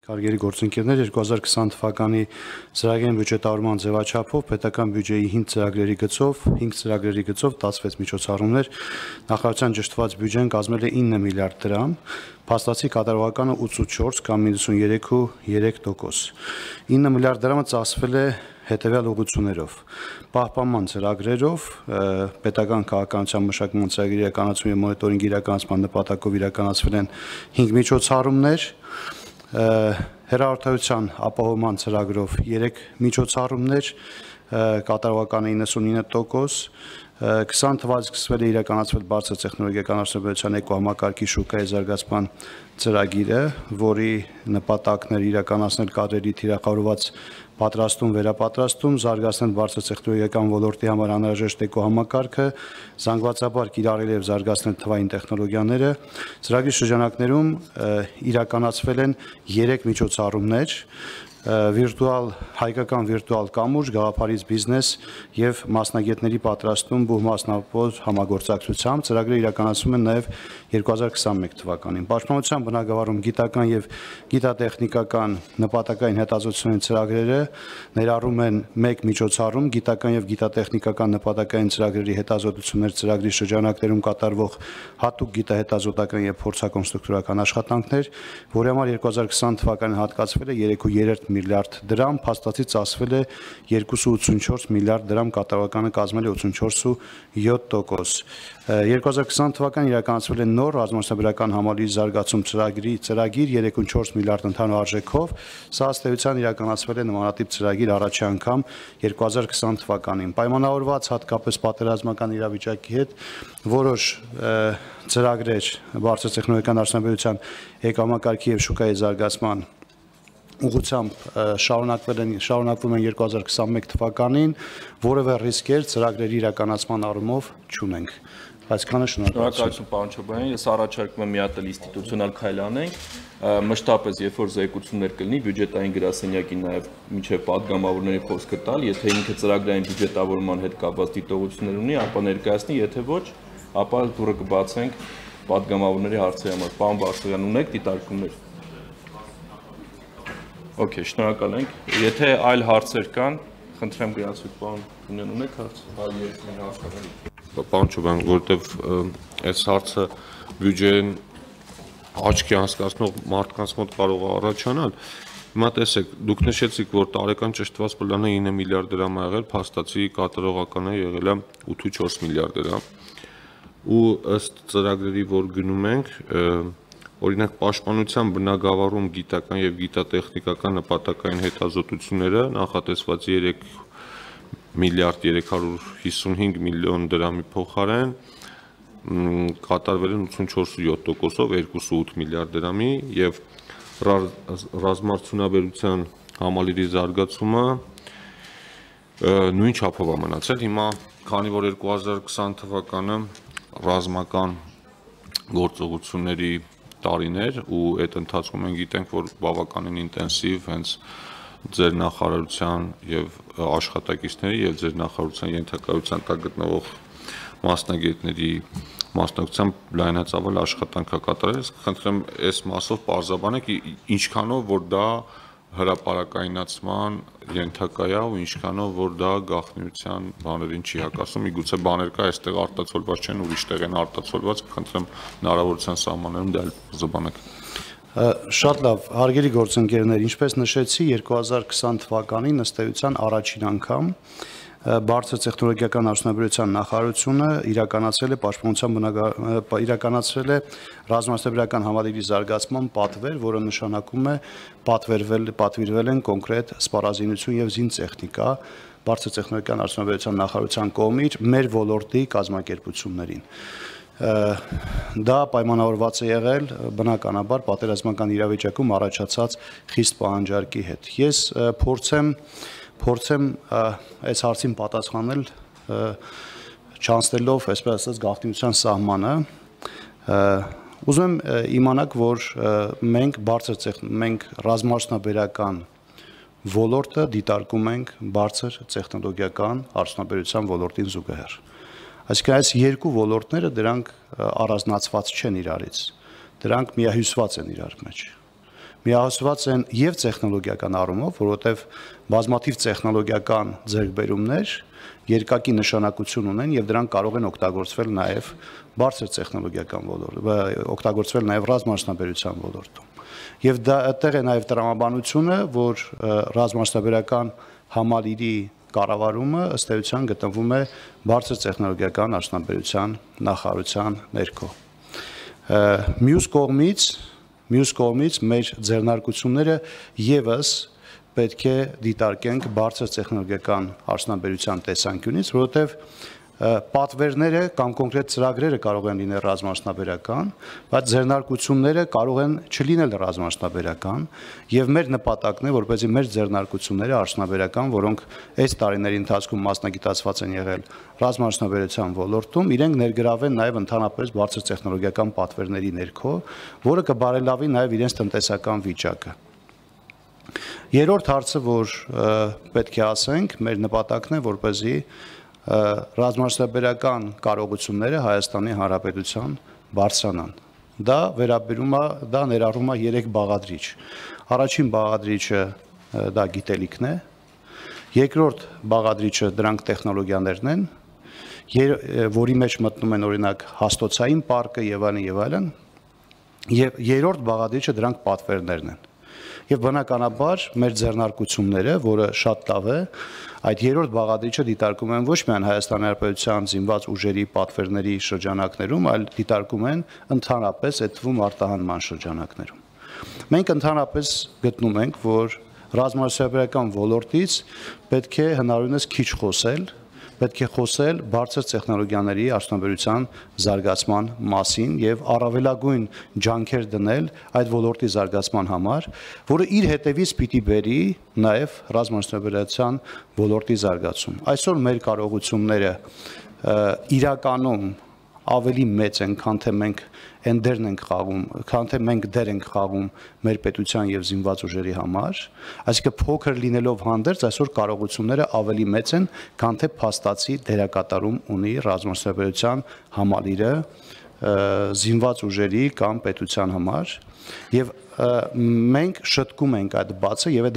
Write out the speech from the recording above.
Հարգելի գործընկերներ, 2020 թվականի ծրագրային բյուջետավորման ձևաչափով պետական բյուջեի 5 ծրագրերի գծով 16 միջոցառումներ նախարարության ճշտված բյուջեն կազմել է 9 միլիարդ դրամ, փաստացի կատարողականը 84 կամ 93%։ 9 միլիարդ դրամը ծախսվել է հետևյալ ուղղություններով. պահպանման ծրագրերով, պետական քաղաքականության մշակման ծրագրի իրականացում եւ մոնիտորինգի իրականացման նպատակով իրականացվել են 5 միջոցառումներ, հեռահաղորդակցության ապահովման ծրագրով 3 միջոցառումներ, կատարողականը 99%, 20 թվականից սկսվել է իրականացվել բարձր տեխնոլոգիական արդյունաբերության էկոհամակարգի շուկայի զարգացման ծրագիրը, որի նպատակն էր իրականացնել կադրերի թիրախավորված պատրաստում, վերապատրաստում, զարգացնել բարձր տեխնոլոգիական ոլորտի համար անհրաժեշտ էկոհամակարգը, զանգվածաբար կիրառել եւ զարգացնել թվային տեխնոլոգիաները։ Ծրագրի շրջանակներում իրականացվել են 3 միջոցառումներ, հայկական վիրտուալ կամուրջ, գաղափարից բիզնես եւ մասնագետների պատրաստում բուհմասնավոր համագործակցությամբ ծրագրերը իրականացվում են նաեւ 2021 թվականին։ Պաշտպանության բնագավառում գիտական եւ գիտատեխնիկական նպատակային հետազոտությունների ծրագրերը ներառում են 1 միջոցառում գիտական եւ գիտատեխնիկական նպատակային ծրագրերի հետազոտություններ ծրագրի շրջանակներում կատարվող հատուկ գիտահետազոտական եւ փորձակոնստրուկտորական աշխատանքներ, որի համար 2020 թվականին հատկացվել է 3.3 միլիարդ դրամ, փաստացի ծախսվել է 2.84 միլիարդ դրամ, կատարողականը կազմել է 84.7%։ 2020 թվականին իրականացվել է նոր ռազմաճնապատական համալիրի զարգացում ծրագիր 3.4 միլիարդ ընդհանուր արժեքով, սա ըստ էության իրականացվել է նմանատիպ ծրագիր առաջի անգամ 2020 թվականին։ Պայմանավորված հատկապես պատերազմական իրավիճակի հետ որոշ ծրագրեր բարձր տեխնոլոգիական արդյունաբերության էկոհամակարգի եւ շուկայի զարգացման ուղղությամբ շարունակվում են 2021 թվականին, որևէ ռիսկեր ծրագրերի իրականացման առումով չունենք։ Այսքանը շնորհակալություն, պարոն Չոբյան, ես առաջարկում եմ մի հատ ինստիտուցիոնալ քայլ անենք, մշտապես երբ որ զեկուցումներ կլինի, բյուջետային գրասենյակին նաև մինչև падգամավորների խոսքը տալ, եթե ինքը ծրագրային բյուջետավորման հետ կապված դիտողություններ ունի, ապա ներկայացնի, եթե ոչ, ապա դուռը կբացենք падգամավորների հարցերի համար։ Պարոն Բարսեղյան, ունեք դիտարկումներ։ Okay, շնորհակալ ենք։ Եթե այլ հարցեր կան, խնդրեմ գրացույց, պարոն Թունյան, ունեք հարց։ Պարոն Չոբյան, որտեվ այս հարցը բյուջեն աչքի անցկացնող մարդկանց մոտ կարող է առաջանալ, հիմա տեսեք, դուք նշեցիք, որ տարեկան ճշտված պլանը 9 միլիարդ դրամ ա եղել, փաստացի կատարողականը եղել է 8.4 միլիարդ դրամ։ Ու ըստ ծրագրերի, որ գնում ենք, օրինակ պաշտպանության բնագավառում գիտական եւ գիտատեխնիկական նպատակային հետազոտությունները նախատեսված 3 միլիարդ 355 միլիոն դրամի փոխարեն կատարվել են 84.7%-ով 2.8 միլիարդ դրամի եւ ռազմարտունաբերության համալիրի զարգացումը նույն չափով է մնացել։ Հիմա քանի որ 2020 թվականը ռազմական գործողությունների տարիներ ու այդ ընթացքում մենք գիտենք, որ բավականին ինտենսիվ հենց ձեր նախարարության եւ աշխատակիցների եւ ձեր նախարարության ենթակայության տակ գտնվող մասնագետների մասնակցությամբ լայնածավալ աշխատանք է կատարել։ Խնդրեմ այս մասով պարզաբանեք ինչքանով որ դա հրապարակայնացման ենթակա է ու ինչքանով որ դա գաղտնիության բաներին չի հակասում, միգուցե բաներ կա այստեղ արտացոլված չեն, ուրիշ տեղ են արտացոլված, խնդրեմ հնարավորության սահմաններում դա զբաղանեք։ Շատ լավ, հարգելի գործընկերներ, ինչպես նշեցի, 2020 թվականին ըստ էության առաջին անգամ բարձր տեխնոլոգիական արդյունաբերության նախարարությունը իրականացրել է ռազմաճնապատական համալիրի զարգացման պատվեր, որը նշանակում է պատվիրվել են կոնկրետ սպառազինություն եւ զինտեխնիկա բարձր տեխնոլոգիական արդյունաբերության նախարարության կողմից մեր ոլորտի կազմակերպություններին։ Դա պայմանավորված է եղել բնականաբար պատերազմական իրավիճակում առաջացած խիստ պահանջարկի հետ։ Ես փորձեմ այս հարցին պատասխանել չանցնելով, այսպես ասած, գաղտնիության սահմանը։ Ուզում եմ իմանաք, որ մենք ռազմաճնապատական ոլորտը դիտարկում ենք բարձր տեխնոլոգիական արդյունաբերության ոլորտին զուգահեռ։ Այսինքն այս երկու ոլորտները դրանք առանձնացված չեն իրարից, դրանք միահյուսված են իրար մեջ։ միահոսված են եւ տեխնոլոգիական առումով, որովհետեւ բազմաթիվ տեխնոլոգիական ձեռքբերումներ երկակի նշանակություն ունեն եւ դրանք կարող են օգտագործվել նաեւ բարձր տեխնոլոգիական ոլորտում, օգտագործվել նաեւ ռազմամասնաբերության ոլորտում։ Եվ դա այդտեղ է նաեւ տրամաբանությունը, որ ռազմամասնաբերական համալիրի կառավարումը ըստ էության գտնվում է բարձր տեխնոլոգիական արդյունաբերության նախարարության ներքո։ Մյուս կողմից մեր ձեռնարկությունները եւս պետք է դիտարկենք բարձր տեխնոլոգիական արդյունաբերության տեսանկյունից, որովհետեւ պատվերները կամ կոնկրետ ծրագրերը կարող են լինել ռազմամասնաբերական, բայց ձեռնարկությունները կարող են չլինել ռազմամասնաբերական, եւ մեր նպատակն է, որպեսզի մեր ձեռնարկությունները արդյունաբերական, որոնք այս տարիների ընթացքում մասնագիտացված են եղել ռազմամասնաբերության ոլորտում, իրենք ներգրավեն նաեւ ընդհանրապես բարձր տեխնոլոգիական պատվերների ներքո, որը կբարելավի նաեւ իրենց տնտեսական վիճակը։ Երրորդ հարցը, որ պետք է ասենք, մեր նպատակն է, որպեսզի ռազմամասնաբերական կարողությունները Հայաստանի Հանրապետության բարձրանան։ Դա ներառում է 3 բաղադրիչ։ Առաջին բաղադրիչը դա գիտելիքն է, երկրորդ բաղադրիչը դրանք տեխնոլոգիաներն են, որի մեջ մտնում են օրինակ հաստոցային պարկը եւ այլն, եւ երրորդ բաղադրիչը դրանք պատվերներն են։ Եվ բնականաբար մեր ձեռնարկությունները, որը շատ լավ է, այդ երրորդ բաղադրիչը դիտարկում են ոչ միայն Հայաստանի Հանրապետության զինված ուժերի պատվերների շրջանակներում, այլ դիտարկում են ընդհանրապես այդ թվում արտահանման շրջանակներում։ Մենք ընդհանրապես գտնում ենք, որ ռազմամասնաբերական ոլորտից պետք է հնարավորինս քիչ խոսել, պետք է խոսել բարձր տեխնոլոգիաների արդյունաբերության զարգացման մասին եւ առավելագույն ջանքեր դնել այդ ոլորտի զարգացման համար, որը իր հետևից պիտի բերի նաեւ ռազմամասնաբերության ոլորտի զարգացում։ Այսօր մեր կարողությունները իրականում ավելի մեծ են, քան թե մենք դեր ենք խաղում մեր պետության եւ զինված ուժերի համար, այսինքն փոքր լինելով հանդերձ այսօր կարողությունները ավելի մեծ են, քան թե փաստացի դերակատարում ունի ռազմամասնաբերության համալիրը զինված ուժերի կամ պետության համար, եւ մենք շտկում ենք այդ բացը եւ այդ